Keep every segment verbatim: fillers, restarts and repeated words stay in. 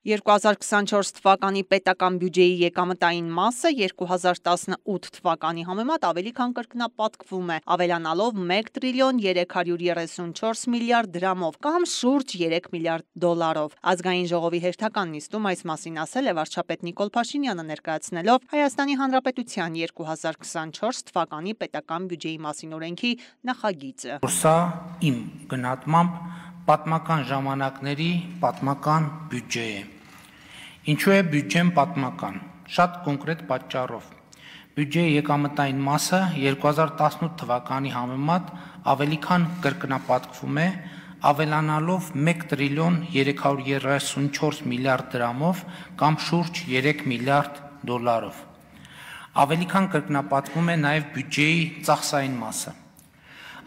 երկու հազար քսանչորս թվականի պետական բյուջեի եկամտային մասը երկու հազար տասնութ թվականի համեմատ ավելի քան կրկնապատկվում է, ավելանալով մեկ տրիլիոն երեք հարյուր երեսունչորս միլիարդ դրամով կամ շուրջ երեք միլիարդ դոլարով։ Ազգային ժողովի հերթական նիստում այս մասին ասել է վարչապետ Նիկոլ Փաշինյանը, ներկայացնելով Հայաստանի Հանրապետության երկու հազար քսանչորս թվականի պետական բյուջեի մասին օրենքի նախագիծը։ Սա իմ գնահատմամբ պատմական ժամանակների պատմական բյուջե է։ Ինչու է բյուջեն պատմական։ Շատ կոնկրետ պատճառով։ Բյուջեի եկամտային մասը երկու հազար տասնութ թվականի համեմատ ավելի քան կրկնապատկվում է, ավելանալով մեկ տրիլիոն երեք հարյուր երեսունչորս միլիարդ դրամով կամ շուրջ երեք միլիարդ դոլարով։ Ավելի քան կրկնապատկվում է նաև բյուջեի ծախսային մասը։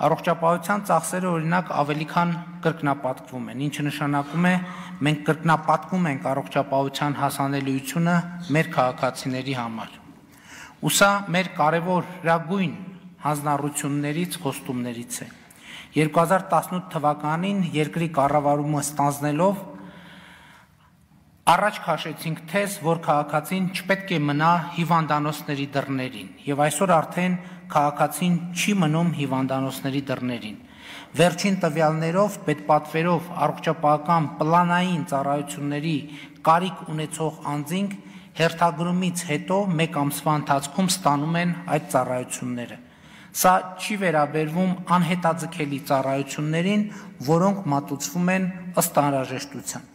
Առողջապահության ծախսերը օրինակ ավելի քան կրկնապատկվում են, ինչը նշանակում է մենք կրկնապատկում ենք առողջապահության հասանելիությունը մեր քաղաքացիների համար։ Ու սա մեր կարևորագույն հանձնառություններից, խոստումներից է։ երկու հազար տասնութ թվականին երկրի կառավարումը ստանձնելով առաջ քաշեցինք թեզ, որ քաղաքացին չպետք է մնա հիվանդանոցների դռներին, եւ այսօր արդեն քաղաքացին չի մնում հիվանդանոցների դռներին։ Վերջին տվյալներով, պետպատվերով առողջապահական պլանային ծառայությունների կարիք ունեցող անձինք հերթագրումից հետո մեկ ամսվա ընթացքում ստանում են այդ ծառայությունները։ Սա չի վերաբերվում անհետաձգելի ծառայություններին, որոնք մատուցվում են ըստ անհրաժեշտության։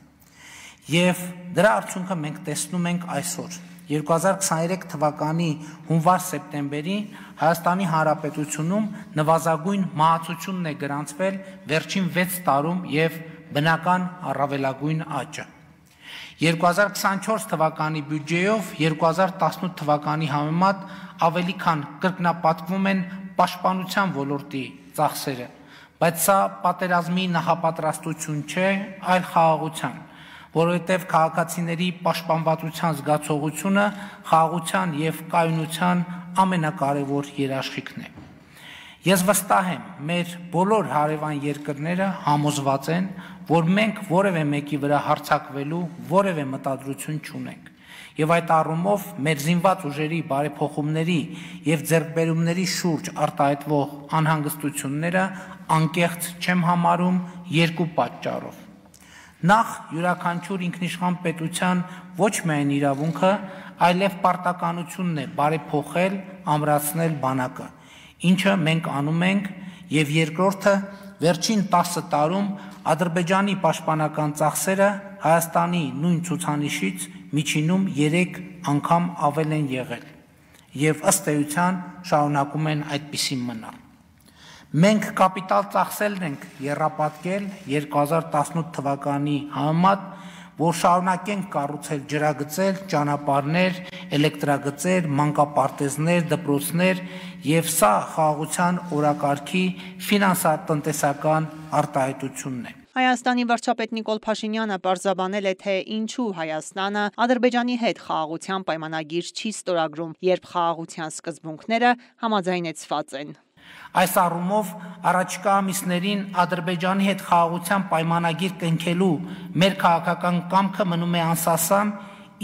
Եվ դրա արդյունքը մենք տեսնում ենք այսօր։ երկու հազար քսաներեք թվականի հունվար-սեպտեմբերի Հայաստանի Հանրապետությունում նվազագույն մահացությունն է գրանցվել վերջին վեց տարում եւ բնական առավելագույն աճը։ երկու հազար քսանչորս թվականի բյուջեով երկու հազար տասնութ թվականի համեմատ ավելի քան կրկնապատկվում են պաշտպանության ոլորտի ծախսերը, բայց սա պատերազմի նախապատրաստություն չէ, այլ խաղաղության, որովհետև քաղաքացիների պաշտպանվածության զգացողությունը խաղաղության եւ կայունության ամենակարևոր երաշխիքն է։ Ես վստահ եմ, մեր բոլոր հարևան երկրները համոզված են, որ մենք որևէ մեկի վրա հարձակվելու որևէ մտադրություն չունենք։ Եվ այդ առումով մեր զինված ուժերի բարեփոխումների եւ ձեռքբերումների շուրջ արտահայտվող անհանգստությունները անկեղծ չեմ համարում երկու պատճառով։ Նախ յուրաքանչյուր ինքնիշխան պետության ոչ միայն իրավունքը, այլև պարտականությունն է բարեփոխել, ամրացնել բանակը, ինչը մենք անում ենք, եւ երկրորդը վերջին տասը տարում Ադրբեջանի պաշտպանական ծախսերը Հայաստանի նույն ցուցանիշից միջինում երեք անգամ ավել են եղել, եւ ըստ էության շարունակում են այդպիսին մնալ։ Մենք կապիտալ ծախսերն ենք եռապատկել երկու հազար տասնութ թվականի համեմատ, որ շարունակենք կառուցել ջրագծեր, ճանապարհներ, էլեկտրագծեր, մանկապարտեզներ, դպրոցներ, եւ սա խաղաղության օրակարգի ֆինանսատնտեսական արտահայտությունն է։ Հայաստանի վարչապետ Նիկոլ Փաշինյանը պարզաբանել է, թե ինչու Հայաստանը Ադրբեջանի հետ խաղաղության պայմանագիր չի ստորագրում, երբ խաղաղության սկզբունքները համաձայնեցված են։ Այս առումով առաջիկա ամիսներին Ադրբեջանի հետ խաղաղության պայմանագիր կնքելու մեր քաղաքական կամքը մնում է անսասան,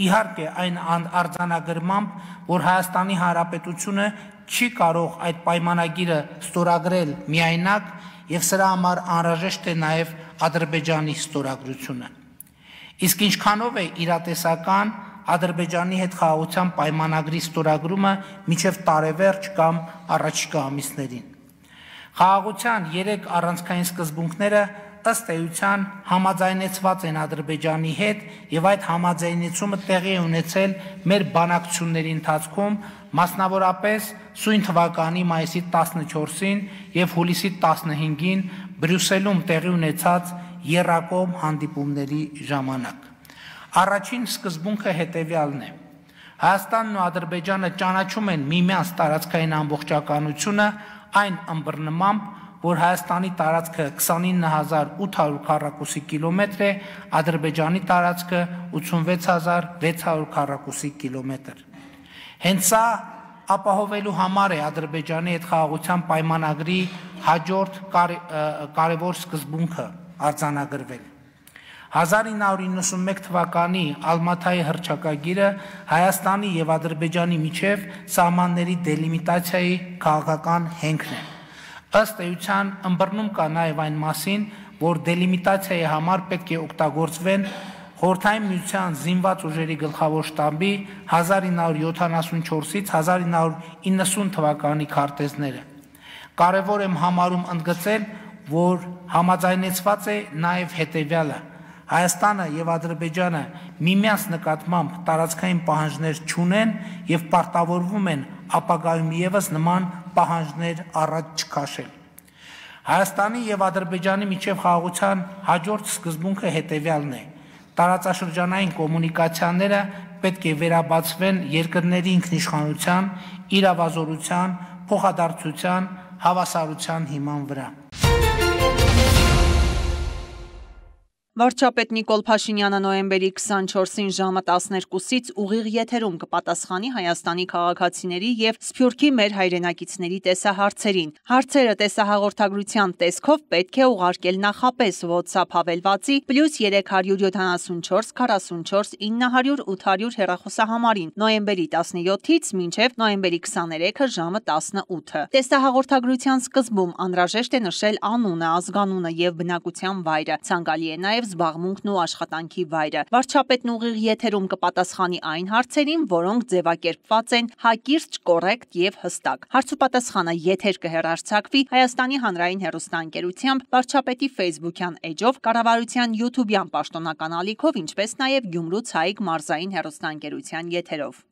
իհարկե այն արձանագրմամբ, որ Հայաստանի Հանրապետությունը չի կարող այդ պայմանագիրը ստորագրել միայնակ եւ սրա համար անհրաժեշտ է նաեւ Ադրբեջանի ստորագրությունը։ Իսկ ինչքանով է իրատեսական Ադրբեջանի հետ խաղաղության պայմանագրի ստորագրումը մինչև տարեվերջ կամ առաջիկա ամիսներին։ Խաղաղության երեք առանցքային սկզբունքները ըստ էության համաձայնեցված են Ադրբեջանի հետ եւ այդ համաձայնեցումը տեղի է ունեցել մեր բանակցությունների ընթացքում, մասնավորապես սույն թվականի մայիսի տասնչորսին եւ հուլիսի տասնհինգին Բրյուսելում տեղի ունեցած եռակողմ հանդիպումների ժամանակ։ Առաջին սկզբունքը հետևյալն է. Հայաստանն ու Ադրբեջանը ճանաչում են միմյանց տարածքային ամբողջականությունը այն ըմբռնմամբ, որ Հայաստանի տարածքը քսանինը հազար ութ հարյուր քառակուսի կիլոմետր է, Ադրբեջանի տարածքը ութսունվեց հազար վեց հարյուր քառակուսի կիլոմետր։ Հենց սա ապահովելու համար է Ադրբեջանի հետ խաղաղության պայմանագրի հաջորդ կարևոր սկզբունքը արձանագրվել։ հազար ինը հարյուր իննսունմեկ թվականի Ալմաթայի հռչակագիրը Հայաստանի եւ Ադրբեջանի միջև սահմանների դելիմիտացիայի քաղաքական հենքն է։ Ըստ էության ըմբռնում կա նաեւ այն մասին, որ դելիմիտացիայի համար պետք է օգտագործվեն Խորհրդային Միության զինված ուժերի գլխավոր շտաբի հազար ինը հարյուր յոթանասունչորսից հազար ինը հարյուր իննսուն թվականի քարտեզները։ Կարևոր եմ համարում ընդգծել, որ համաձայնեցված է նաև հետևյալը. Հայաստանը եւ Ադրբեջանը միմյանց նկատմամբ տարածքային պահանջներ չունեն եւ պարտավորվում են ապագայում եւս նման պահանջներ առաջ չքաշել։ Հայաստանի եւ Ադրբեջանի միջև խաղաղության հաջորդ սկզբունքը հետևյալն է. Տարածաշրջանային կոմունիկացիաները պետք է վերաբացվեն երկրների ինքնիշխանության, իրավազորության, փոխադարձության, հավասարության հիման վրա։ Վարչապետ Նիկոլ Փաշինյանը նոյեմբերի քսանչորսին ժամը տասներկուսից ուղիղ եթերում կպատասխանի Հայաստանի քաղաքացիների եւ Սփյուռքի մեր հայրենակիցների տեսահարցերին։ Հարցերը տեսահաղորդագրության տեսքով պետք է ուղարկել նախապես WhatsApp հավելվածի պլյուս երեք հարյուր յոթանասունչորս քառասունչորս ինը հարյուր ութ հարյուր հեռախոսահամարին նոյեմբերի տասնյոթից մինչև նոյեմբերի քսաներեքը ժամը տասնութը։ Տեսահաղորդագրության սկզբում անհրաժեշտ է նշել անունը, ազգանունը եւ բնակության վայրը։ Ցանկալի է նաեւ զբաղմունքն ու աշխատանքի վայրը։ Վարչապետն ուղիղ եթերում կպատասխանի այն հարցերին, որոնք ձևակերպված են հակիրճ, կոռեկտ եւ հստակ։ Հարցուպատասխանը եթեր կհեռարձակվի Հայաստանի հանրային հեռուստաընկերությամբ, վարչապետի Facebook-յան էջով, կառավարության YouTube-յան պաշտոնական ալիքով, ինչպես նաեւ Գյումրու Ցայիկ մարզային հեռուստաընկերության եթերով։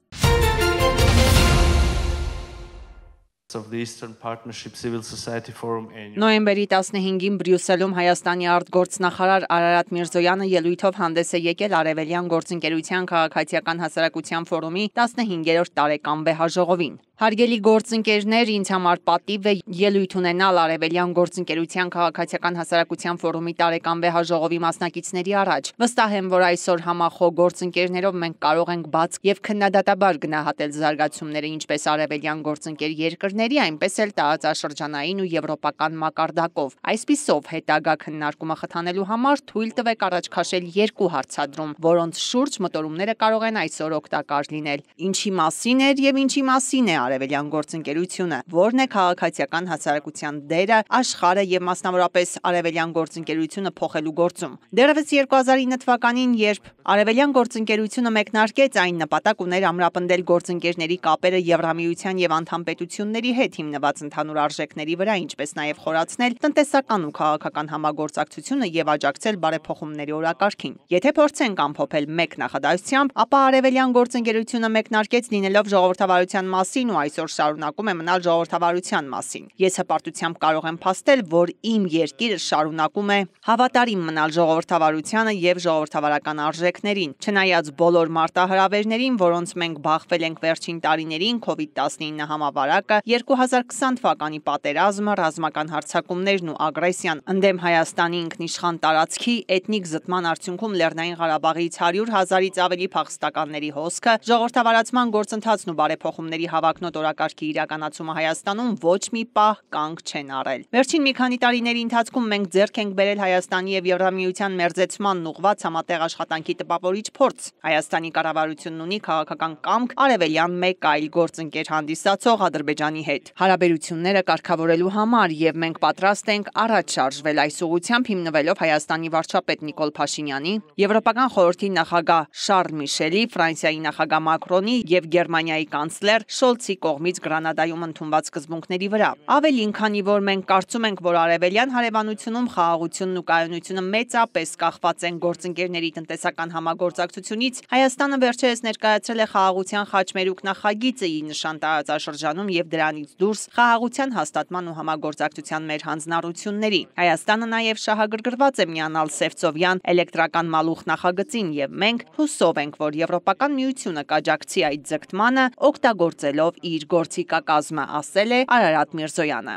Նոյեմբերի տասնհինգին Բրյուսելում Հայաստանի արտգործնախարար Արարատ Միրզոյանը ելույթով հանդես է եկել Արևելյան գործընկերության քաղաքացիական հասարակության ֆորումի տասնհինգերորդ տարեկան վեհաժողովին։ Հարգելի գործընկերներ, ինձ համար պատիվ է ելույթ ունենալ Արևելյան գործընկերության քաղաքացիական հասարակության ֆորումի տարեկան վեհաժողովի մասնակիցների առաջ։ Վստահ եմ, որ այսօր համախոհ գործընկերներով մենք կարող ենք բաց եւ քննադատաբար գնահատել զարգացումները ինչպես արևելյան գործընկեր երկրների, այնպես էլ տարածաշրջանային ու եվրոպական մակարդակով։ Այսպիսով, հետագա քննարկումը խթանելու համար թույլ տվեք առաջ քաշել երկու հարցադրում, որոնց շուրջ մտորումները կարող են այսօր օգտակար լինել։ Ինչի մասին էր եւ ինչի մասին է Արևելյան գործընկերությունը, որն է քաղաքացիական հասարակության դերը աշխարհը եւ մասնավորապես Արևելյան գործընկերությունը փոխելու գործում։ Դեռևս երկու հազար ինը թվականին, երբ Արևելյան գործընկերությունը մեկնարկեց, այն նպատակ ուներ ամրապնդել գործընկերների կապերը Եվրամիության եւ անդամ պետությունների հետ հիմնված ընդհանուր արժեքների վրա, ինչպես նաեւ խորացնել տնտեսական ու քաղաքական համագործակցությունը եւ աջակցել բարեփոխումների օրակարգին։ Եթե փորձենք ամփոփել մեկ նախադասությամբ, ապա Արևելյան գործընկերությունը մեկնարկեց լինելով ժողովրդավարության մասին ու այսօր շարունակում է մնալ ժողովրդավարության մասին։ Ես հպարտությամբ կարող եմ փաստել, որ իմ երկիրը շարունակում է հավատարիմ մնալ ժողովրդավարությանը եւ ժողովրդավարական արժեքներին, չնայած բոլոր մարտահրավերներին, որոնց մենք բախվել ենք վերջին տարիներին, քովիդ տասնինը համավարակը, երկու հազար քսան թվականի պատերազմը, ռազմական հարձակումներն ու ագրեսիան ընդդեմ Հայաստանի ինքնիշխան տարածքի, էթնիկ զտման արդյունքում Լեռնային Ղարաբաղից հարյուր հազարից ավելի փախստականների հոսքը, ժողովրդավարացման գործընթացն ու բարեփոխումների հավակնոտ օրակարգի իրականացումը Հայաստանում ոչ մի պահ կանգ չեն առել։ Վերջին մի քանի տարիների ընթացքում մենք ձեռք ենք բերել Հայաստանի եւ Եվրամիության մերձեցմանն ուղղված համատեղ աշխատանքի տպավորիչ փորձ։ Հայաստանի կառավարությունն ունի քաղաքական կամք արևելյան մեկ այլ գործընկեր հանդիսացող Ադրբեջանի հետ հարաբերությունները կարգավորելու համար եւ մենք պատրաստ ենք առաջ շարժվել այս ուղղությամբ հիմնվելով Հայաստանի վարչապետ Նիկոլ Փաշինյանի, Եվրոպական խորհրդի նախագահ Շարլ Միշելի, Ֆրանսիայի նախագահ Մակրոնի եւ Գերմանիայի կանցլեր Շոլցի կողմից Գրանադայում ընդունված սկզբունքների վրա։ Ավելին, քանի որ մենք կարծում ենք, որ արևելյան հարևանությունում խաղաղությունն ու կայունությունը մեծապես կախված են գործընկերների տնտեսական համագործակցությունից, Հայաստանը վերջերս ներկայացրել է խաղաղության խաչմերուկ նախագիծը ի նշան տարածաշրջանում եւ դրանից դուրս խաղաղության հաստատման ու համագործակցության մեր հանձնառությունների։ Հայաստանը նաեւ շահագրգռված է միանալ Սևծովյան էլեկտրական մալուխ նախագծին եւ մենք հուսով ենք, որ Եվրոպական միությունը կաջակցի այդ ձգտմանը օգտագործելով իր գործիքակազմը, ասել է Արարատ Միրզոյանը։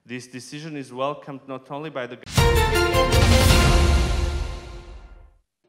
This decision is welcomed not only by the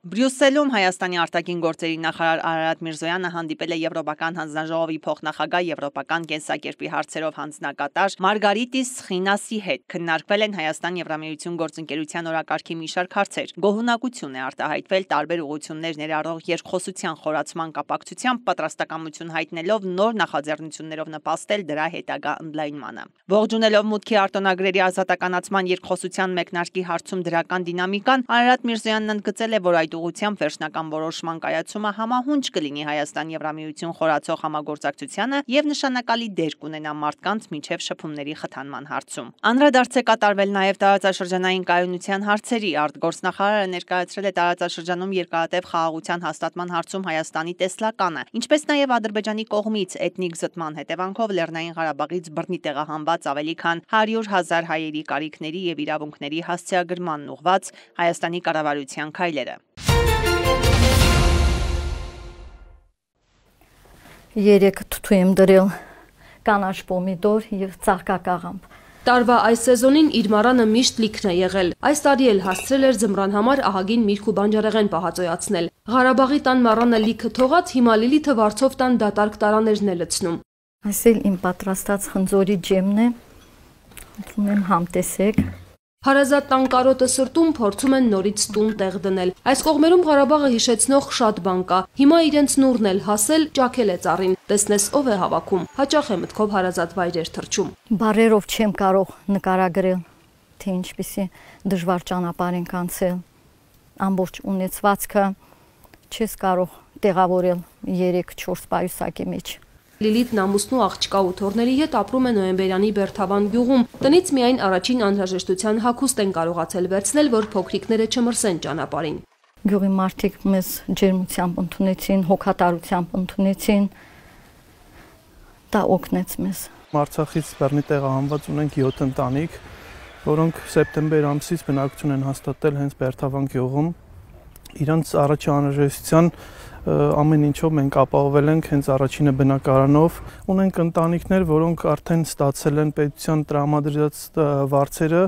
Բրյուսելում Հայաստանի արտաքին գործերի նախարար Արարատ Միրզոյանը հանդիպել է Եվրոպական հանձնաժողովի փոխնախագահ Եվրոպական կենսակերպի հարցերով հանձնակատար Մարգարիտիս Խինասի հետ։ Քննարկվել են Հայաստան-Եվրամիություն գործընկերության օրակարգի մի շարք հարցեր։ Գոհունակություն է արտահայտվել տարբեր ուղղություններ ներառող երկխոսության խորացման կապակցությամբ պատրաստակամություն հայտնելով նոր նախաձեռնություններով նպաստել դրա հետագա ընդլայնմանը։ Ողջունելով մուտքի արտոնագրերի ազատականացման երկխոսության մեկնարկի հարցում դրական դինամիկան, Արարատ Միրզոյանն ընդգծել է, որ այդ ուղղությամբ վերջնական որոշման կայացումը համահունչ կլինի Հայաստան-Եվրամիություն խորացող համագործակցությանը եւ նշանակալի դեր կունենա մարդկանց միջև շփումների խթանման հարցում։ Անդրադարձ է կատարվել նաեւ տարածաշրջանային կայունության հարցերի։ Արտգործնախարարը ներկայացրել է տարածաշրջանում երկարատև խաղաղության հաստատման հարցում Հայաստանի տեսլականը, ինչպես նաեւ Ադրբեջանի կողմից էթնիկ զտման հետևանքով Լեռնային Ղարաբաղից բռնի տեղահանված ավելի քան հարյուր հազար հայերի կարիքների եւ իրավունքների հասցեագրմանն ուղղված Հայաստանի կառավարության քայլերը։ Երեք թթու եմ դրել կանաչ պոմիդոր եւ ծաղկակաղամբ։ Տարվա այս սեզոնին իր մառանը միշտ լիքն է եղել։ Այս տարի էլ հասցրել էր ձմռան համար ահագին միրգ ու բանջարեղեն պահածոյացնել։ Ղարաբաղի տան մառանը լիքը թողած հիմա Լիլիթը վարձով տան դատարկ տարաներն է լցնում։ Այս էլ իմ պատրաստած խնձորի ջեմն է։ Ուտում եմ համտեսեք։ Հարազատ տան կարոտը սրտում փորձում են նորից տուն տեղ դնել։ Այս կողմերում Ղարաբաղը հիշեցնող շատ բան կա։ Հիմա իրենց նուրն էլ հասել, ճաքել է ծառին։ Տեսնես ով է հավաքում։ Հաճախ է մտքով հարազատ վայրեր թռչում։ Բարերով չեմ կարող նկարագրել, թե ինչպիսի դժվար ճանապարհ ենք անցել։ Ամբողջ ունեցվածքը չես կարող տեղավորել երեք չորս պայուսակի մեջ։ Լիլիթն ամուսնու աղջկա ու թոռների հետ ապրում է Նոյեմբերյանի Բերթավան գյուղում։ Տնից միայն առաջին անհրաժեշտության հագուստ են կարողացել վերցնել, որ փոքրիկները չմրսեն ճանապարհին։ Գյուղի մարդիկ մեզ ջերմությամբ ընդունեցին, հոգատարությամբ ընդունեցին։ Դա օգնեց մեզ։ Արցախից բռնի տեղահանված ունենք յոթ ընտանիք, որոնք սեպտեմբեր ամսից բնակություն են հաստատել հենց Բերթավան գյուղում։ Իրանց առաջին անհրաժեշտության ամեն ինչով մենք ապահովել ենք հենց առաջինը բնակարանով։ Ունենք ընտանիքներ, որոնք արդեն ստացել են պետության տրամադրած վարձերը,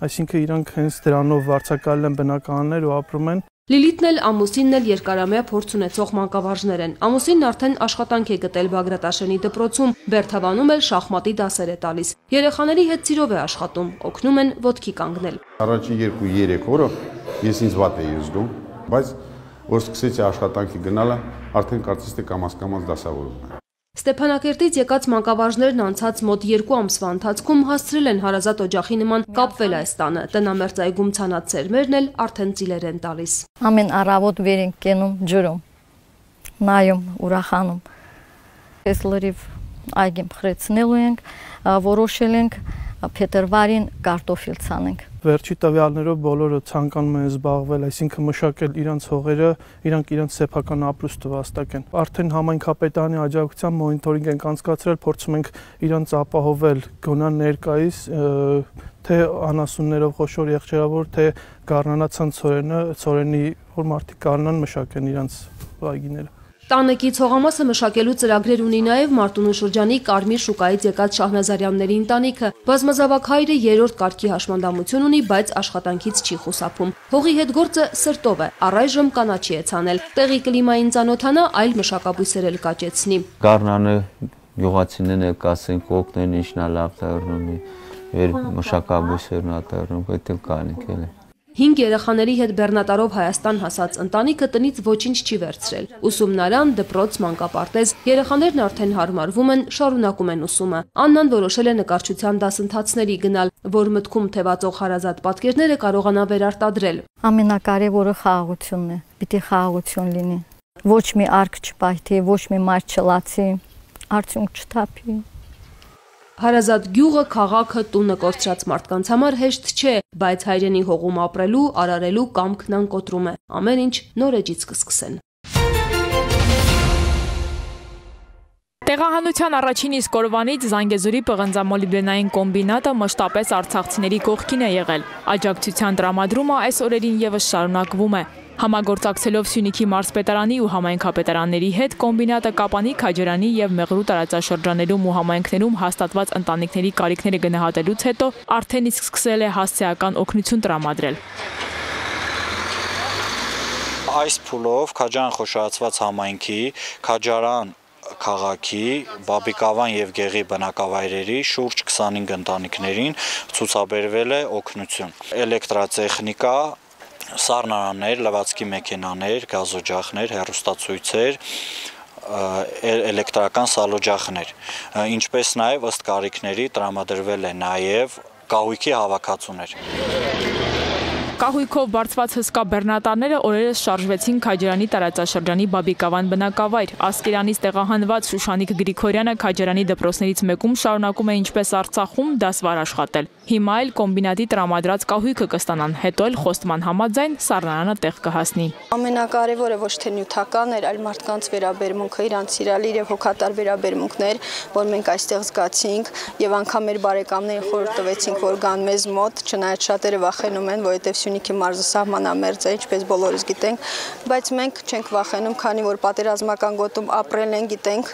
այսինքն իրանք հենց դրանով վարձակալել են բնակարաններ ու ապրում են։ Լիլիթն էլ ամուսինն էլ երկարամյա փորձ ունեցող մանկավարժներ են։ Ամուսինն արդեն աշխատանք է գտել Բագրատաշենի դպրոցում, Բերթավանում էլ շախմատի դասեր է տալիս։ Երեխաների հետ սիրով է աշխատում, օգնում են ոտքի կանգնել։ Առաջին երկու-երեք օրը ես ինձ վատ էի զգում, բայց որ սկսեցի աշխատանքի գնալը, արդեն կարծես թե կամաց-կամաց դասավորում եմ։ Ստեփանակերտից եկած մանկավարժներն անցած մոտ երկու ամսվա ընթացքում հասցրել են հարազատ օջախի նման կապվել այս տանը։ Տնամերձ այգում ցանած սերմերն էլ արդեն ծիլեր են տալիս։ Ամեն առավոտ վեր ենք կենում ջրում, նայում, ուրախանում։ Այս լրիվ այգին փխրեցնելու ենք, որոշել ենք փետրվարին կարտոֆիլ ցանենք։ Վերջի տվյալներով բոլորը ցանկանում են զբաղվել, այսինքն մշակել իրանց հողերը, իրանք իրանց սեփական ապրուստը վաստակեն։ Արդեն համայնքապետարանի աջակցությամբ մոնիտորինգ ենք անցկացրել, փորձում ենք իրանց ապահովել գոնան ներկայիս, թե անասուններով խոշոր եղջերավոր, թե գառնանացան ցորենը, ցորենի որ մարդիկ գառնան մշակեն իրանց այգիները։ Տանեկից հողամասը մշակելու ծրագրեր ունի նաև Մարտունու շրջանի Կարմիր շուկայից եկած Շահնազարյանների ընտանիքը։ Բազմազավակ հայրը երրորդ կարգի հաշմանդամություն ունի, բայց աշխատանքից չի խուսափում։ Հողի հետ գործը սրտով է, առայժմ կանաչի է ցանել։ Տեղի կլիմային ծանոթանա, այլ մշակաբույսեր էլ կաճեցնի։ Գառնանը գյուղացիներն էլ կասեն կոկնեն ինչնա լավ դառնում է, վեր մշակաբույսերն ատառնում, դա կանիք էլ է։ Հինգ երեխաների հետ բեռնատարով Հայաստան հասած ընտանիքը տնից ոչինչ չի վերցրել։ Ուսումնարան, դպրոց, մանկապարտեզ, երեխաներն արդեն հարմարվում են, շարունակում են ուսումը։ Աննան որոշել է նկարչության դասընթացների գնալ, որ մտքում թևածող հարազատ պատկերները կարողանա վերարտադրել։ Ամենակարևորը խաղաղությունն է։ Պիտի խաղաղություն լինի։ Ոչ մի արկ չպայթի, ոչ մի մայր չլացի, արդյունք չթափի։ Հարազատ գյուղը, քաղաքը, տունը կորցրած մարդկանց համար հեշտ չէ, բայց հայրենի հողում ապրելու, արարելու կամքն անկոտրում է։ Ամեն ինչ նոր էջից կսկսեն։ Տեղահանության առաջին իսկ օրվանից Զանգեզուրի պղնձամոլիբդենային կոմբինատը մշտապես արցախցիների կողքին է եղել։ Աջակցության տրամադրումը այս օրերին եւս շարունակվում է։ Համագործակցելով Սյունիքի մարզպետարանի ու համայնքապետարանների հետ կոմբինատը Կապանի, Քաջարանի եւ Մեղրու տարածաշրջաներում ու համայնքներում հաստատված ընտանիքների կարիքները գնահատելուց հետո արդեն իսկ սկսել է հասցեական օգնություն տրամադրել։ Այս փուլով Քաջարան խոշորացված համայնքի, Քաջարան քաղաքի, Բաբիկավան եւ Գեղի բնակավայրերի շուրջ քսանհինգ ընտանիքներին ցուցաբերվել է օգնություն։ Էլեկտրատեխնիկա, սառնարաններ, լվացքի մեքենաներ, գազօջախներ, հեռուստացույցեր, էլեկտրական սալօջախներ, ինչպես նաև ըստ կարիքների տրամադրվել է նաև կահույքի հավաքածուներ։ Կահույքով բարձված հսկա բեռնատարները օրերս շարժվեցին Քաջարանի տարածաշրջանի Բաբիկավան բնակավայր։ Ասկերանից տեղահանված Շուշանիկ Գրիգորյանը Քաջարանի դպրոցներից մեկում շարունակում է ինչպես Արցախում դասվար աշխատել։ Հիմա էլ կոմբինատի տրամադրած կահույքը կստանան, հետո էլ խոստման համաձայն սառնարանը տեղ կհասնի։ Ամենակարևորը ոչ թե նյութական էր, այլ մարդկանց վերաբերմունքը, իրանց սիրալիր եւ հոգատար վերաբերմունքներ, որ մենք այստեղ զգացինք եւ անգամ մեր բարեկամներին խորհուրդ տվեցինք, որ գան մեզ մոտ, չնայած շատերը վախենում են, որովհետեւ Սյունիքի մարզը սահմանամերձ է, ինչպես բոլորս գիտենք, բայց մենք չենք վախենում, քանի որ պատերազմական գոտում ապրել են, գիտենք,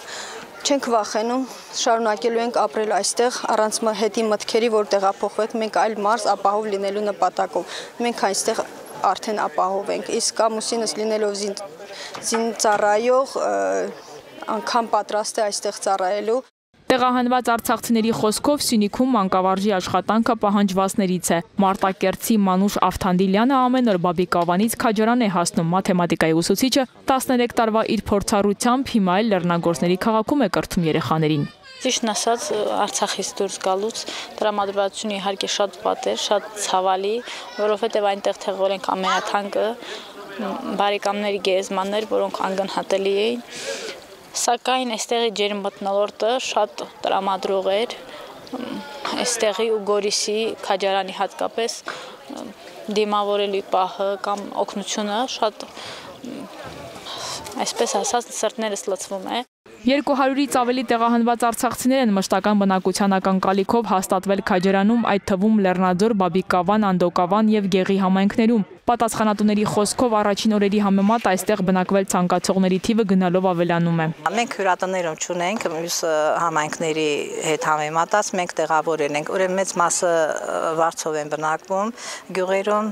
չենք վախենում, շարունակելու ենք ապրել այստեղ առանց հետի մտքերի, որ տեղափոխվենք, մենք այլ մարզ ապահով լինելու նպատակով։ Մենք այստեղ արդեն ապահով ենք, իսկ ամուսինս լինելով զինծառայող անգամ պատրաստ է այստեղ ծառայելու։ Տեղահանված արցախցիների խոսքով Սյունիքում մանկավարժի աշխատանքը պահանջվածներից է։ Մարտակերտցի Մանուշ Ավթանդիլյանը ամեն օր Բաբիկավանից Քաջարան է հասնում, մաթեմատիկայի ուսուցիչը տասներեք տարվա իր փորձառությամբ հիմա էլ Լեռնագործների քաղաքում է կրթում երեխաներին։ Ճիշտն ասած, Արցախից դուրս գալուց տրամադրվածությունը իհարկե շատ վատ էր, շատ ցավալի, որովհետև այնտեղ թողել ենք ամենաթանկը, բարեկամների գերեզմաններ, որոնք անգնահատելի էին։ Սակայն այստեղի ջերմմթնոլորտը շատ տրամադրող էր, այստեղի ու Գորիսի Քաջարանի հատկապես դիմավորելու պահը կամ օգնությունը շատ, այսպես ասած, սրտներս լցվում է։ երկու հարյուրից ավելի տեղահանված արցախցիներ են մշտական բնակության ակնկալիքով հաստատվել Քաջարանում, այդ թվում Լեռնաձոր, Բաբիկավան, Անդոկավան եւ Գեղի համայնքներում։ Պատասխանատուների խոսքով առաջին օրերի համեմատ այստեղ բնակվել ցանկացողների թիվը գնալով ավելանում է։ Մենք հյուրատներում չունենք, մյուս համայնքների հետ համեմատած մենք տեղավորել ենք, ուրեմն մեծ մասը Վարչով են բնակվում, գյուղերում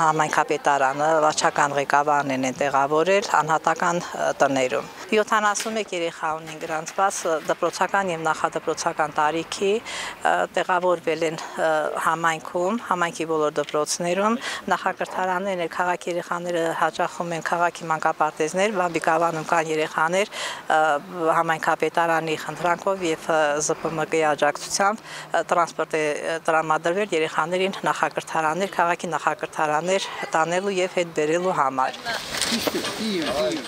համայնքապետարանը, վարչական ղեկավարներն են տեղավորել անհատական տներում։ յոթանասունմեկ երեխա ունեն գրանցված դպրոցական եւ նախադպրոցական տարիքի, տեղավորվել են համայնքում, համայնքի բոլոր դպրոցներում, նախակրթարաններն են, քաղաքի երեխաները հաճախում են քաղաքի մանկապարտեզներ, Բաբիկավանում կան երեխաներ համայնքապետարանի խնդրանքով եւ Զ Պ M K-ի աջակցությամբ տրանսպորտ է տրամադրվել երեխաներին նախակրթարաններ, քաղաքի նախակրթարաններ տանելու եւ հետ բերելու համար։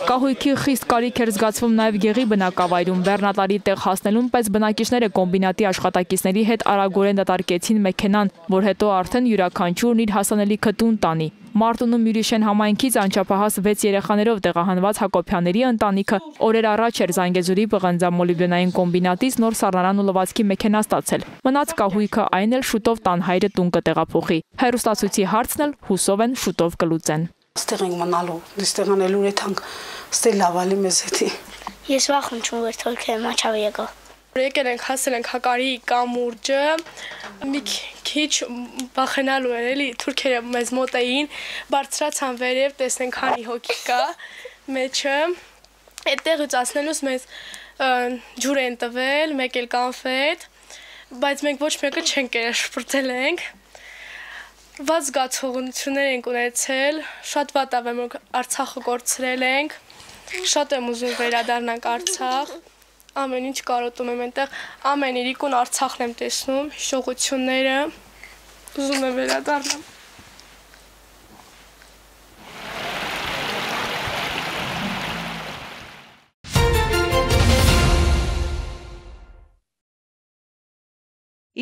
Կահույքի խիստ կարիք էր զգացվում նաև Գեղի բնակավայրում։ Բեռնատարի տեղ հասնելուն պես բնակիչները կոմբինատի աշխատակիցների հետ արագորեն դատարկեցին մեքենան, որ հետո արդեն յուրաքանչյուրն իր հասանելիքը տուն տանի։ Մարտունում Յուրիշեն համայնքից անչափահաս վեց երեխաներով տեղահանված Հակոբյանների ընտանիքը օրեր առաջ էր Զանգեզուրի պղնձամոլիբդենային կոմբինատից նոր սառնարան ու լվացքի մեքենա ստացել։ Մնաց կահույքը, այն էլ շուտով տան հայրը տուն կտեղափոխի։ Հեռուստացույցի հարցն էլ հուսով են շուտով կլուծեն։ Ստեղ ենք մնալու, դստեղ անելու էթանք, ստե լավալի մեզ հետի։ Ես վախում չում որ թորքը մաչավ եկա։ Եկել ենք հասել ենք Հակարի կամուրջը, մի քիչ վախենալու էր էլի, թուրքերը մեզ մոտ էին, բարձրացան վերև, տեսնենք քանի հոգի կա մեջը, այդտեղից ասնելուց մեզ ջուր են տվել, մեկ էլ կանֆետ, բայց մենք ոչ մեկը չենք կերել, շպրտել ենք։ Վատ զգացողություններ ենք ունեցել, շատ վատ ավ եմ Արցախը կորցրել ենք, շատ եմ ուզում վերադառնանք Արցախ, ամեն ինչ կարոտում եմ այնտեղ, ամեն իրիկուն Արցախն եմ տեսնում, հիշողությունները, ուզում եմ վերադառնամ։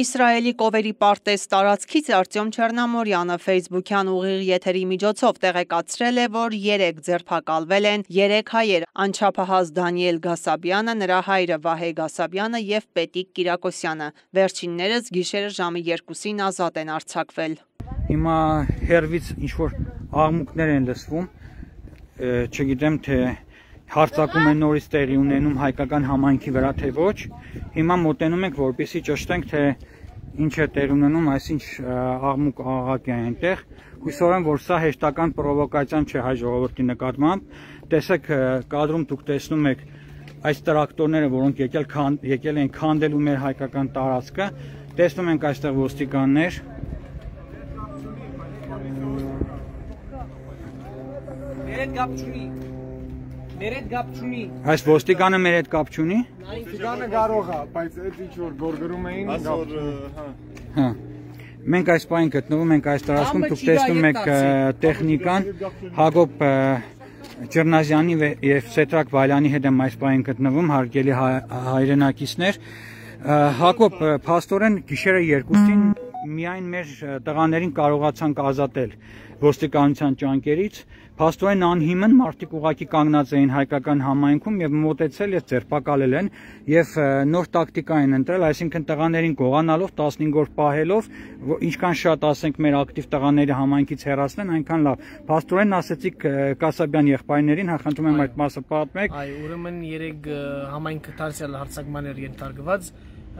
Իսրայելի կովերի պարտեզ տարածքից Արտյոմ Չեռնամորյանը Facebook-յան ուղիղ եթերի միջոցով տեղեկացրել է, որ երեք ձերբակալվել են երեք հայեր՝ անչափահաս Դանիել Գասաբյանը, նրա հայրը Վահե Գասաբյանը եւ Պետիկ Կիրակոսյանը։ Վերջիններս գիշերը ժամը երկուսին ազատ են արձակվել։ Հիմա հերվից ինչ-որ աղմուկներ են լսվում, չգիտեմ թե հարձակում են նորից տեղի ունենում հայկական համայնքի վրա թե ոչ, հիմա մոտենում ենք, որպեսզի ճշտենք, թե ինչ է տեր ունենում, այսինչ աղմուկ աղաղակ է այնտեղ։ Հույսով եմ, որ սա հեշտական պրովոկացիան չէ հայ ժողովրդի նկատմամբ։ Տեսեք, կադրում դուք տեսնում եք այս տրակտորները, որոնք եկել եկել են քանդելու մեր հայկական տարածքը, տեսնում ենք այստեղ ոստիկաններ։ Մեր հետ կապ չունի։ Մեր հետ կապ չունի։ Այս ոստիկանը մեր հետ կապ չունի։ Ոստիկանը կարող է, բայց այդ ինչ որ գորգրում էին, հա։ Մենք այս պահին գտնվում ենք այս տարածքում, դուք տեսնում եք տեխնիկան, Հակոբ Ճռնազյանի եւ Սեդրակ Վալյանի հետ եմ այս պահին գտնվում, հարգելի հայրենակիցներ։ Հակոբ, փաստորեն գիշերը երկուսին միայն մեր տղաներին կարողացանք ազատել ոստիկանության ճանկերից, փաստորեն անհիմն մարդիկ ուղակի կանգնած էին հայկական համայնքում եւ մոտեցել եւ ձերբակալել են եւ նոր տակտիկա են ընտրել, այսինքն տղաներին գողանալով տասնհինգ օր պահելով, ինչքան շատ ասենք մեր ակտիվ տղաների համայնքից հեռացնեն, այնքան լավ։ Փաստորեն ասեցիք Կասաբյան եղբայրներին, խնդրում եմ այդ մասը պատմեք։ Այ ուրեմն երեք համայնքը դարձյալ հարձակման էր ենթարկված,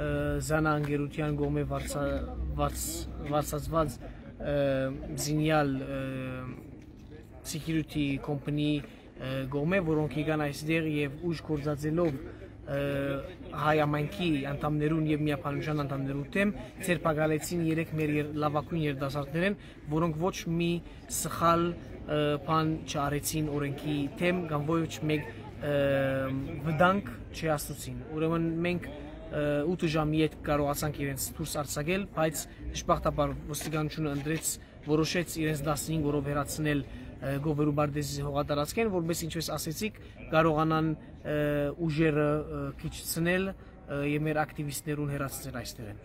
Զանա անգերության գոմե վարձածված զինյալ security company գոմե, որոնք եկան այստեղ եւ ուժ կորզածելով հայ ամենքի անդամներուն եւ միապանության անդամներու դեմ ցերպակալեցին երեք մեր լավագույն երիտասարդներն, որոնք ոչ մի սխալ բան չարեցին օրենքի դեմ կամ ոչ մեկ վտանգ չհասցրեցին։ Ուրեմն մենք ութ ժամի հետ կարողացանք իրենց դուրս արձակել, բայց դժբախտաբար ոստիկանությունը ընտրեց, որոշեց իրենց տասնհինգ օրով հեռացնել Գովերու Բարդեզի հողատարածքեն, որպես ինչպես ասեցիք, կարողանան ուժերը քիչցնել եւ մեր ակտիվիստներուն հեռացնել այստեղեն։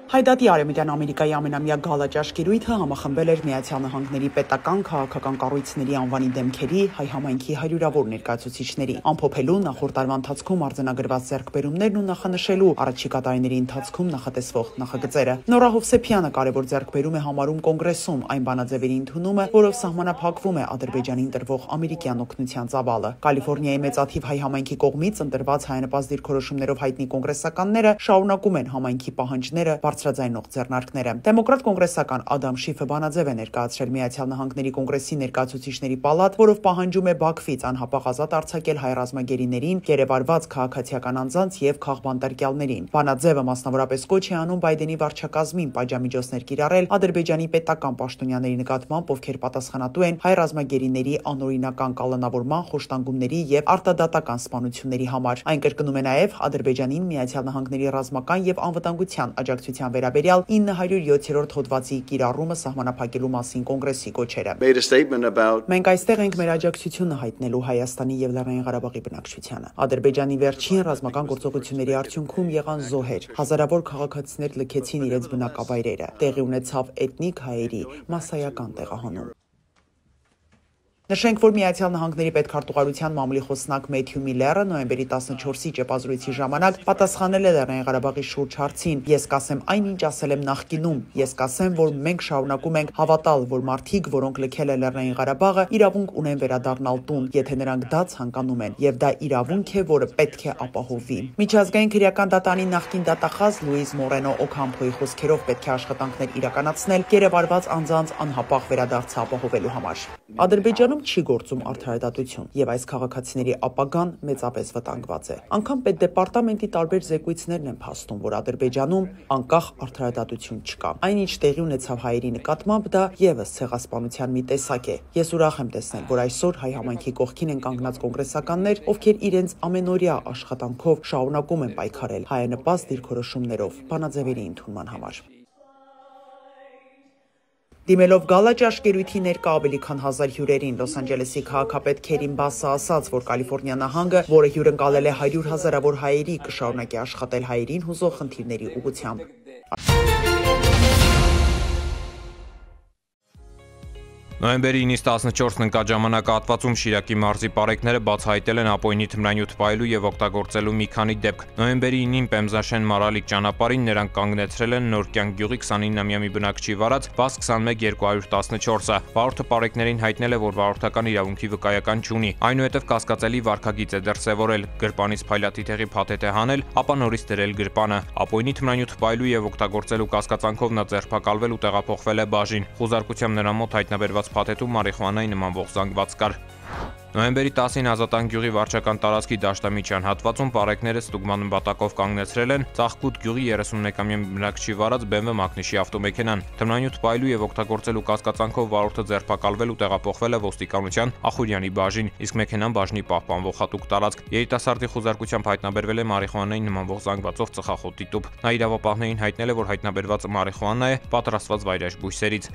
Հայդատի Արևմտյան Ամերիկայի ամենամյա գալաճաշկերույթը համախմբել էր Միացյալ Նահանգների պետական քաղաքական կառույցների անվանի դեմքերի հայ համայնքի հարյուրավոր ներկայացուցիչների, ամփոփելու նախորդ տարվա ընթացքում արձանագրված ձեռքբերումներն ու նախանշելու առաջիկա տարիների ընթացքում նախատեսվող նախագծերը։ Նորա Հովսեփյանը կարևոր ձեռքբերում է համարում կոնգրեսում այն բանաձևերի ընդունումը, որով սահմանափակվում է Ադրբեջանին տրվող ամերիկյան օգնության ծավալը։ Կալիֆոռնիայի մեծաթիվ հայ համայնքի կողմից ընտրված հայանպաստ դիրքորոշումներով հայտնի կոնգրեսականները շարունակում են համայնքի պահանջները բարձրաձայնող ձեռնարկները։ Դեմոկրատ կոնգրեսական Ադամ Շիֆը բանաձև է ներկայացրել Միացյալ Նահանգների կոնգրեսի ներկայացուցիչների պալատ, որով պահանջում է Բաքվից անհապաղ ազատ արձակել հայ ռազմագերիներին, գերեվարված քաղաքացիական անձանց եւ քաղբանտարկյալներին։ Բանաձևը մասնավորապես կոչ է անում Բայդենի վարչակազմին պատժամիջոցներ կիրառել Ադրբեջանի պետական պաշտոնյաների նկատմամբ, ովքեր պատասխանատու են հայ ռազմագերիների անօրինական կալանավորման, խոշտանգումների եւ արտադատական սպանությունների համար։ Այն կրկնում է նաեւ Ադրբեջանին Միացյալ Նահանգների ռազմական եւ անվտանգության աջակցության վերաբերյալ ինը հարյուր յոթերորդ հոդվածի կիրառումը սահմանափակելու մասին կոնգրեսի կոչերը։ Մենք այստեղ ենք մեր աջակցությունը հայտնելու Հայաստանի եւ Լեռնային Ղարաբաղի բնակչությանը։ Ադրբեջանի վերջին ռազմական գործողությունների արդյունքում եղան զոհեր, հազարավոր քաղաքացիներ լքեցին իրենց բնակավայրերը, տեղի ունեցավ էթնիկ հայերի մասսայական տեղահանում։ Նշենք, որ Միացյալ Նահանգների պետքարտուղարության մամուլի խոսնակ Մեթյու Միլլերը նոյեմբերի տասնչորսի ճեպազրույցի ժամանակ պատասխանել է Լեռնային Ղարաբաղի շուրջ հարցին. Ես կասեմ այն, ինչ ասել եմ նախկինում, ես կասեմ, որ մենք շարունակում ենք հավատալ, որ մարդիկ, որոնք լքել են Լեռնային Ղարաբաղը, իրավունք ունեն վերադառնալ տուն, եթե նրանք դա ցանկանում են, եւ դա իրավունք է, որը պետք է ապահովվի։ Միջազգային քրեական դատարանի նախկին դատախազ Լուիզ Մորենո Օքամփոյի խոսքերով պետք է աշխատանքներ իրականացնել գերեվարված անձանց անհապաղ վերադարձը ապահովելու համար։ Ադրբեջանում չի գործում արդարադատություն, եւ այս քաղաքացիների ապագան մեծապես վտանգված է։ Անկամ պետդեպարտամենտի տարբեր զեկույցներն են փաստում, որ Ադրբեջանում անկախ արդարադատություն չկա։ Այնինչ տեղի ունեցավ հայերի նկատմամբ, դա եւս ցեղասպանության մի տեսակ է։ Ես ուրախ եմ տեսնել, որ այսօր հայ համայնքի կողքին են կանգնած կոնգրեսականներ, ովքեր իրենց ամենօրյա աշխատանքով շարունակում են պայքարել հայանպաստ դիրքորոշումներով բանաձևերի ընդունման համար։ Դիմելով գալա ճաշկերույթի ներկա ավելի քան հազար հյուրերին, Լոս Անջելեսի քաղաքապետ Քերին Բասը ասաց, որ Կալիֆոռնիա նահանգը, որը հյուրընկալել է հարյուր հազարավոր հայերի, կշարունակի աշխատել հայերին հուզող խնդիրների ուղղությամբ։ Նոյեմբերի ինից տասնչորսն ընկաժամանակահատվածում Շիրակի մարզի պարեկները բացահայտել են ապօրինի թմրանյութ պահելու եւ օգտագործելու մի քանի դեպք։ Նոյեմբերի ինին Պեմզաշեն Մարալիկ ճանապարհին նրանք կանգնեցրել են Նորկյան գյուղի քսանինամյա մի բնակչի վարած վազ քսանմեկ երկու տասնչորսը։ Վարորդը պարեկներին հայտնել է, որ վարորդական իրավունքի վկայական չունի։ Այնուհետև կասկածելի վարքագիծ է դրսևորել, գրպանից փայլատիթեղի փաթեթ է հանել, ապա նորից դրել գրպանը։ Ապօրինի թմրանյութ պահելու եւ օգտագործելու կասկածանքով նա ձերբակալվել ու տեղափոխվել է բաժին։ Խուզարկությամբ նրա մոտ հայտնաբերված փաթեթում մարիխուանայի նմանվող զանգված կար։ Նոյեմբերի տասին Ազատան գյուղի վարչական տարածքի Դաշտամիջյան հատվածում պարեկները ստուգման նպատակով կանգնեցրել են Ծաղկուտ գյուղի երեսունմեկամյա բնակչի վարած բի էմ վի մակնիշի ավտոմեքենան։ Թմրանյութ պահելու եւ օգտագործելու կասկածանքով վարորդը ձերբակալվել ու տեղափոխվել է ոստիկանության Ախուրյանի բաժին, իսկ մեքենան բաժնի պահպանվող հատուկ տարածք։ Երիտասարդի խուզարկությամբ հայտնաբերվել է մարիխուանայի նմանվող զանգվածով ծխախոտի տուփ։ Նա իրավապահներին հայտնել է, որ հայտնաբերված մարիխուանա է պատրաստված վայրէժ բույսերից։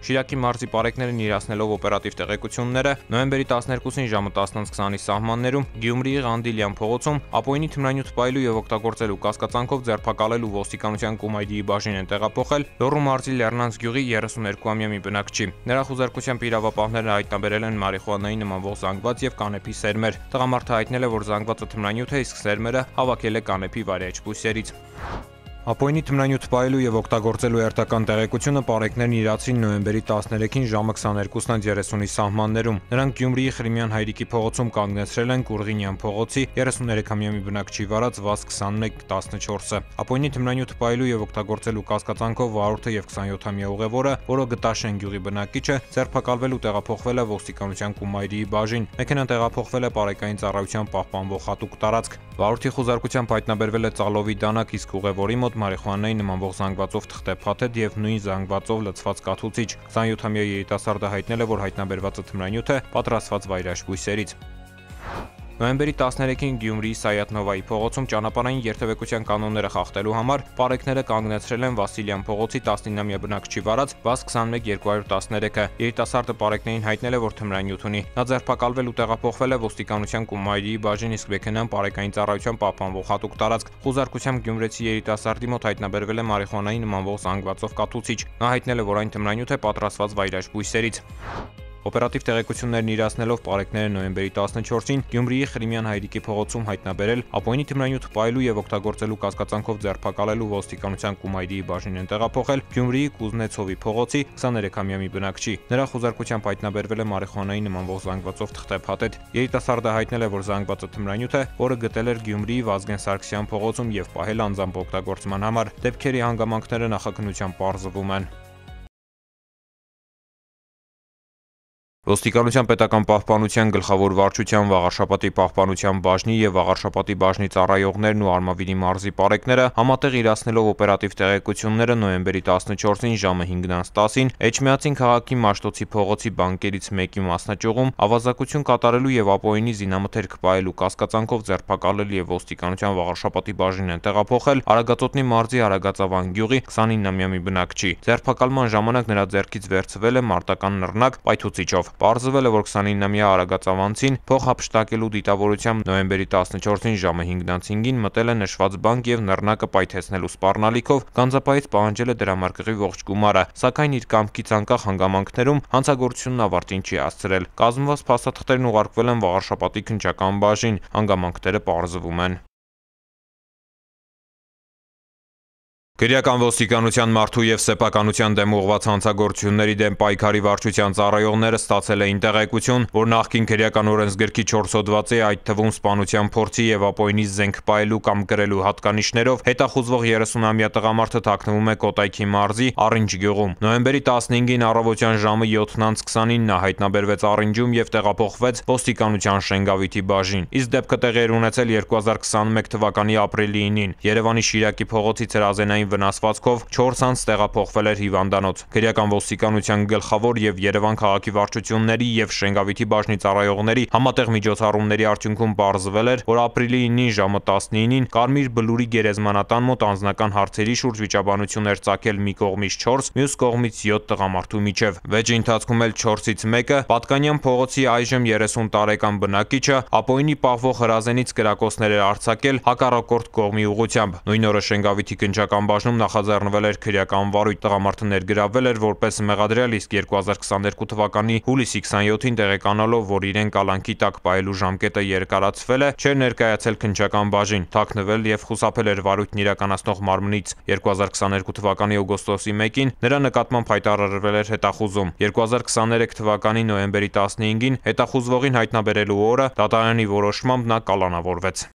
Շիրակի մարզի պարեկներն իրացնելով օպերատիվ տեղեկությունները նոյեմբերի տասներկուսին ժամը տասնից քսանի սահմաններում Գյումրիի Ղանդիլյան փողոցում ապօրինի թմրանյութ պահելու եւ օգտագործելու կասկածանքով ձերբակալել ու ոստիկանության Կումայրիի բաժին են տեղափոխել Լոռու մարզի Լեռնանց գյուղի երեսուներկուամյա մի բնակչի։ Նրա խուզարկությամբ իրավապահները հայտնաբերել են մարիխուանայի նմանվող զանգված եւ կանեփի սերմեր։ Տղամարդը հայտնել է, որ զանգվածը թմրանյութ է, իսկ սերմերը հավաքել է կանեփի վայրէջ բույսերից։ Ապօրինի թմրանյութ պահելու եւ օգտագործելու երթական տեղեկությունը պարեկներն իրացին նոյեմբերի տասներեքին ժամը քսաներկուսից երեսունի սահմաններում։ Նրանք Գյումրիի Խրիմյան Հայրիկի փողոցում կանգնեցրել են Կուրղինյան փողոցի երեսուներեքամյա մի բնակչի վարած վազ քսանմեկ տասնչորսը։ Ապօրինի թմրանյութ պահելու եւ օգտագործելու կասկածանքով վարորդը եւ քսանյոթամյա ուղևորը, որը Գտաշեն գյուղի բնակիչ է, ձերբակալվել ու տեղափոխվել է ոստիկանության Կումայրիի բաժին։ Մեքենան տեղափոխվել է պարեկային ծառայության պահպանվող հատուկ տարածք։ Վարորդի խուզարկությամբ հայտնաբերվել է ծալովի դանակ, իսկ ուղևորի մոտ մարիխուանայի նմանվող զանգվածով թղթե փաթեթ եւ նույն զանգվածով լցված կաթուցիչ։ քսանյոթամյա երիտասարդը հայտնել է, որ հայտնաբերվածը թմրանյութ է պատրաստված վայրէժ բույսերից։ Նոյեմբերի տասներեքին Գյումրիի Սայաթնովայի փողոցում ճանապարհային երթևեկության կանոնները խախտելու համար պարեկները կանգնեցրել են Վասիլյան փողոցի տասնինամյա բնակչի վարած վազ քսանմեկ երկու տասներեքը։ Երիտասարդը պարեկներին հայտնել է, որ թմրանյութ ունի։ Նա ձերբակալվել ու տեղափոխվել է ոստիկանության Կումայրիի բաժին, իսկ մեքենան պարեկային ծառայության պահպանվող հատուկ տարածք։ Խուզարկությամբ գյումրեցի երիտասարդի մոտ հայտնաբերվել է մարիխուանայի նմանվող զանգվածով կաթուցիչ։ Նա հայտնել է, որ այն թմրանյութ է պատրաստված վայրէժ բույսերից։ Օպերատիվ տեղեկություններն իրացնելով պարեկները նոյեմբերի տասնչորսին Գյումրիի Խրիմյան Հայրիկի փողոցում հայտնաբերել ապօրինի թմրանյութ պահելու եւ օգտագործելու կասկածանքով ձերբակալելու ոստիկանության Կումայրիի բաժին են տեղափոխել Գյումրիի Կուզնեցովի փողոցի քսաներեքամյա մի բնակչի։ Նրա խուզարկությամբ հայտնաբերվել է մարիխուանայի նմանվող զանգվածով թղթե փաթեթ։ Երիտասարդը հայտնել է, որ զանգվածը թմրանյութ է, որը գտել էր Գյումրիի Վազգեն Սարգսյան փողոցում եւ պահել անձամբ օգտագործման համար։ Դեպքերի հանգամանքները նախաքննությամբ պարզվում են։ Ոստիկանության պետական պահպանության գլխավոր վարչության Վաղարշապատի պահպանության բաժնի եւ Վաղարշապատի բաժնի ծառայողներն ու Արմավիրի մարզի պարեկները համատեղ իրացնելով օպերատիվ տեղեկությունները նոյեմբերի տասնչորսին ժամը հինգից տասին Էջմիածին քաղաքի Մաշտոցի փողոցի բանկերից մեկի մասնաճյուղում ավազակություն կատարելու եւ ապօրինի զինամթերք պահելու կասկածանքով ձերբակալել եւ ոստիկանության Վաղարշապատի բաժին են տեղափոխել Արագածոտնի մարզի Արագածավան գյուղի քսանինամյա մի բնակչի։ Ձերբակալման ժամանակ նրա ձեռքից վերցվել է մարտական նռնակ պայթուցիչով։ Պարզվել է, որ քսանինամյա արագածավանցին փող հափշտակելու դիտավորությամբ նոյեմբերի տասնչորսին ժամը հինգից հինգին մտել է նշված բանկ եւ նռնակը պայթեցնելու սպառնալիքով գանձապահից պահանջել է դրամարկղի ողջ գումարը, սակայն իր կամքից անկախ հանգամանքներում հանցագործությունն ավարտին չի հասցրել։ Կազմված փաստաթղթերն ուղարկվել են Վաղարշապատի քննչական բաժին, հանգամանքները պարզվում են։ Քրեական ոստիկանության մարդու եւ սեփականության դեմ ուղղված հանցագործությունների դեմ պայքարի վարչության ծառայողները ստացել էին տեղեկություն, որ նախկին քրեական օրենսգրքի չորս հոդվածի, այդ թվում սպանության փորձի եւ ապօրինի զենք պահելու կամ կրելու հատկանիշներով հետախուզվող երեսունամյա տղամարդը թաքնվում է Կոտայքի մարզի Առինջ գյուղում։ Նոյեմբերի տասնհինգին առավոտյան ժամը յոթից քսանին նա հայտնաբերվեց Առինջում եւ տեղափոխվեց ոստիկանության Շենգավիթի բաժին։ Իսկ դեպքը տեղի էր ունեցել երկու հազար քսանմեկ թվականի ապրիլի ինին։ Երևանի Շիրակի փողոցից հրազենային վնասվածքով չորս անց տեղափոխվել էր հիվանդանոց։ Քրեական ոստիկանության գլխավոր եւ Երևան քաղաքի վարչությունների եւ Շենգավիթի բաժնի ծառայողների համատեղ միջոցառումների արդյունքում պարզվել էր, որ ապրիլի ինին ժամը տասնինին Կարմիր Բլուրի գերեզմանատան մոտ անձնական հարցերի շուրջ վիճաբանություն էր ծագել մի կողմից չորս, մյուս կողմից յոթ տղամարդու միջև։ Վեճի ընթացքում էլ չորսից մեկը Պատկանյան փողոցի այժմ երեսուն տարեկան բնակիչը ապօրինի պահվող հրազենից կրակոցներ էր արձակել հակառակորդ կողմի ուղղությամբ։ Նույն օրը Շենգավիթի քննչական բաժնում նախաձեռնվել էր քրեական վարույթ, տղամարդը ներգրավվել էր որպես մեղադրյալ, իսկ երկու հազար քսաներկու թվականի հուլիսի քսանյոթին տեղեկանալով, որ իրեն կալանքի տակ պահելու ժամկետը երկարացվել է, չէր ներկայացել քննչական բաժին, թաքնվել եւ խուսափել էր վարույթն իրականացնող մարմնից։ երկու հազար քսաներկու թվականի օգոստոսի մեկին նրա նկատմամբ հայտարարվել էր հետախուզում։ երկու հազար քսաներեք թվականի նոյեմբերի տասնհինգին հետախուզվողին հայտնաբերելու օրը դատարանի որոշմամբ նա կալանավորվեց։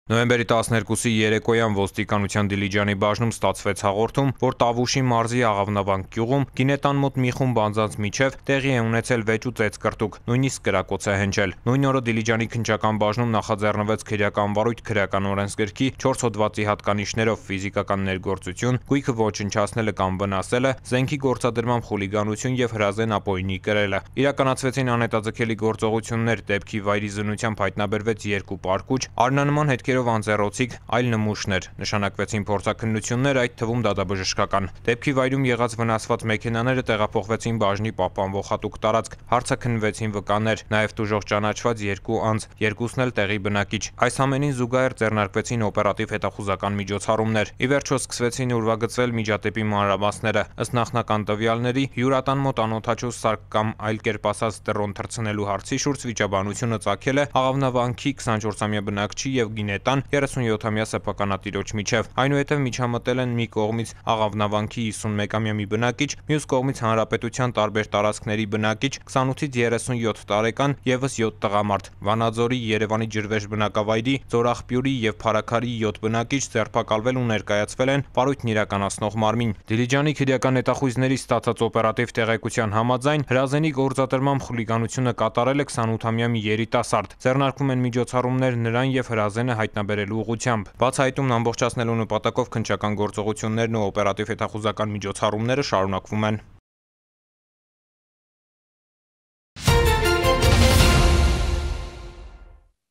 Նոյեմբերի տասներկուսի երեկոյան ոստիկանության Դիլիջանի բաժնում ստացվեց հաղորդում, որ Տավուշի մարզի Աղավնավանք գյուղում գինետան մոտ մի խումբ անձանց միջև տեղի է ունեցել վեճ ու ծեծկրտուկ, նույնիսկ կրակոց է հնչել։ Նույն օրը Դիլիջանի քննչական բաժնում նախաձեռնվեց քրեական վարույթ քրեական օրենսգրքի չորս հոդվածի հատկանիշներով ֆիզիկական ներգործություն, գույքը ոչնչացնելը կամ վնասելը, զենքի գործադրմամբ խուլիգանություն եւ հրազեն ապօրինի կրելը։ Իրականացվեցին անհետաձգելի գործողություններ, դեպքի վայրի զննությամբ հայտնաբերվեց երկու պարկուճ, արնանման հետքեր անձեռոցիկ այլ նմուշներ, նշանակվեցին փորձաքննություններ, այդ թվում դատաբժշկական։ Դեպքի վայրում եղած վնասված մեքենաները տեղափոխվեցին բաժնի պահպանվող հատուկ տարածք, հարցաքննվեցին վկաներ, նաև տուժող ճանաչված երկու անձ, երկուսն էլ տեղի բնակիչ։ Այս ամենին զուգահեռ ձեռնարկվեցին օպերատիվ հետախուզական միջոցառումներ։ Ի վերջո սկսվեցին ուրվագծվել միջադեպի մանրամասները։ Ըստ նախնական տվյալների, հյուրատան մոտ անօթաչու սարք կամ այլ կերպ ասած դրոն թռցնելու հարցի շուրջ վիճաբանությունը ծագել է Աղավնավանքի քսանչորսամյա բնակչի եւ գինետան երեսունյոթամյա սեփականատիրոջ միջև։ Այնուհետև միջամտել են մի կողմից Աղավնավանքի հիսունմեկամյա մի բնակիչ, մյուս կողմից հանրապետության տարբեր տարածքների բնակիչ, քսանութից երեսունյոթ տարեկան եւս յոթ տղամարդ, Վանաձորի, Երևանի ջրվեժ բնակավայրի, Ձորախբյուրի եւ Փարաքարի յոթ բնակիչ ձերբակալվել ու ներկայացվել են վարույթն իրականացնող մարմին։ Դիլիջանի քրեական հետախույզների ստացած օպերատիվ տեղեկության համաձայն հրազենի գործադրմամբ խուլիգանությունը կատարել է քսանութամյա մի երիտասարդ։ Ձեռնարկվում են միջոցառումներ նրան եւ հրազենը հայտնաբերելու ուղղությամբ։ Բացահայտումն ամբողջացնելու նպատակով քննչական գործողություններն ու օպերատիվ հետախուզական միջոցառումները շարունակվում են։